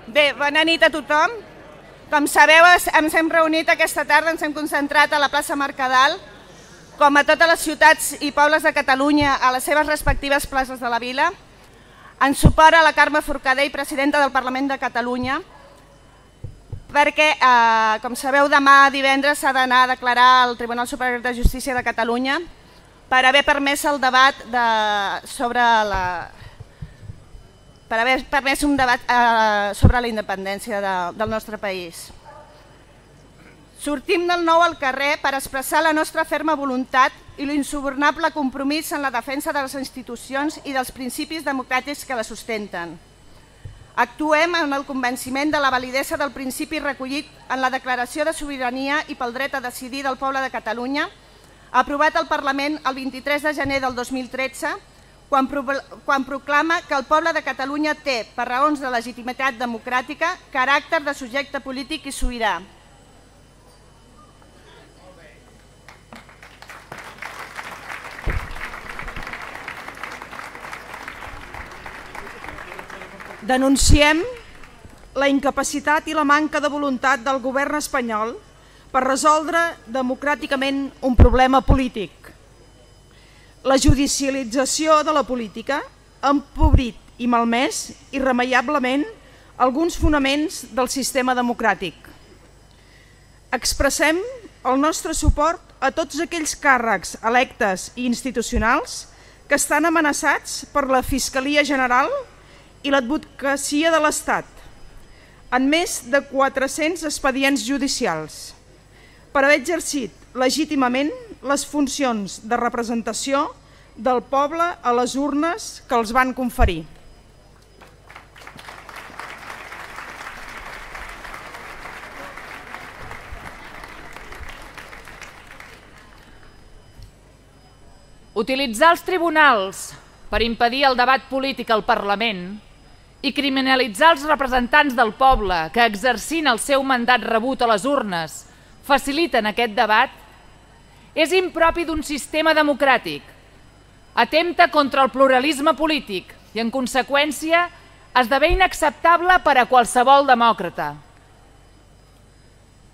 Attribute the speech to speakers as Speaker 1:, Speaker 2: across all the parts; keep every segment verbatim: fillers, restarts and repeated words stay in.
Speaker 1: Bé, bona nit a tothom. Com sabeu, ens hem reunit aquesta tarda, ens hem concentrat a la plaça Mercadal, com a totes les ciutats i pobles de Catalunya, a les seves respectives places de la vila, en suport a la Carme Forcadell, presidenta del Parlament de Catalunya, perquè, eh, com sabeu, demà divendres s'ha d'anar a declarar al Tribunal Superior de Justícia de Catalunya per haver permès el debat de, sobre la... per haver permès un debat eh, sobre la independència de, del nostre país. Sortim del nou al carrer per expressar la nostra ferma voluntat i l'insubornable compromís en la defensa de les institucions i dels principis democràtics que la sustenten. Actuem en el convenciment de la validesa del principi recollit en la Declaració de Sobirania i pel dret a decidir del poble de Catalunya, aprovat al Parlament el vint-i-tres de gener del dos mil tretze, quan, pro quan proclama que el poble de Catalunya té, per raons de legitimitat democràtica, caràcter de subjecte polític i sobirà.
Speaker 2: Denunciem la incapacitat i la manca de voluntat del govern espanyol per resoldre democràticament un problema polític. La judicialització de la política ha empobrit i malmès irremeiablement alguns fonaments del sistema democràtic. Expressem el nostre suport a tots aquells càrrecs electes i institucionals que estan amenaçats per la Fiscalia General i l'advocacia de l'Estat, en més de quatre-cents expedients judicials, per haver exercit legítimament les funcions de representació del poble a les urnes que els van conferir.
Speaker 3: Utilitzar els tribunals per impedir el debat polític al Parlament i criminalitzar els representants del poble que, exercint el seu mandat rebut a les urnes, faciliten aquest debat, és impropi d'un sistema democràtic, atempta contra el pluralisme polític i, en conseqüència, esdevé inacceptable per a qualsevol demòcrata.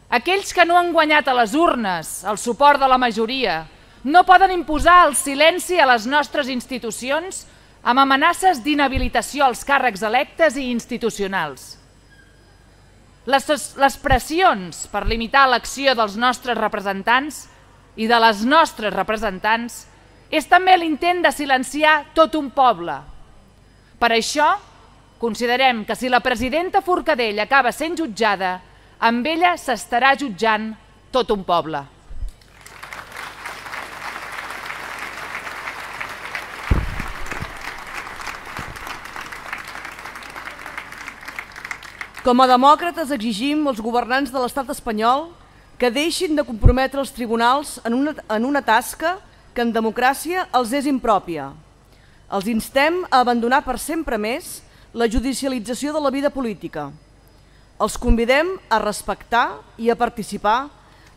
Speaker 3: Aquells que no han guanyat a les urnes el suport de la majoria no poden imposar el silenci a les nostres institucions amb amenaces d'inhabilitació als càrrecs electes i institucionals. Les, les pressions per limitar l'acció dels nostres representants i de les nostres representants és també l'intent de silenciar tot un poble. Per això, considerem que si la presidenta Forcadell acaba sent jutjada, amb ella s'estarà jutjant tot un poble.
Speaker 4: Com a demòcrates exigim als governants de l'estat espanyol que deixin de comprometre els tribunals en una, en una tasca que en democràcia els és impròpia. Els instem a abandonar per sempre més la judicialització de la vida política. Els convidem a respectar i a participar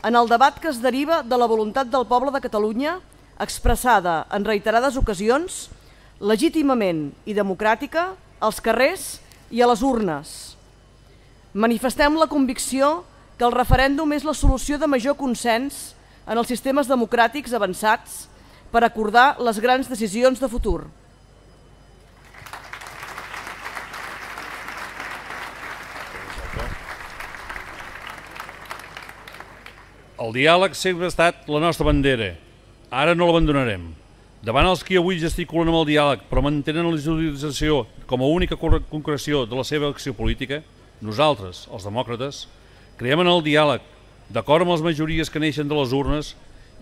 Speaker 4: en el debat que es deriva de la voluntat del poble de Catalunya expressada en reiterades ocasions, legítimament i democràtica, als carrers i a les urnes. Manifestem la convicció que el referèndum és la solució de major consens en els sistemes democràtics avançats per acordar les grans decisions de futur.
Speaker 5: El diàleg sempre ha estat la nostra bandera. Ara no l'abandonarem. Davant els qui avui gesticulen amb el diàleg però mantenen la judicialització com a única concreció de la seva acció política, nosaltres, els demòcrates, creiem en el diàleg, d'acord amb les majories que neixen de les urnes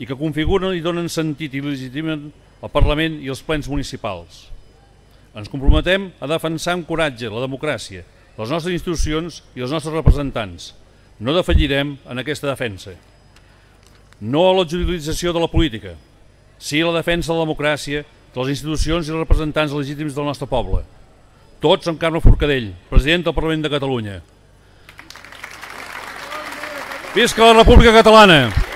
Speaker 5: i que configuren i donen sentit i legitimen el Parlament i els plens municipals. Ens comprometem a defensar amb coratge la democràcia, les nostres institucions i els nostres representants. No defallirem en aquesta defensa. No a la judicialització de la política, sí a la defensa de la democràcia, de les institucions i els representants legítims del nostre poble. Tots amb Carme Forcadell, president del Parlament de Catalunya. Visca la República Catalana!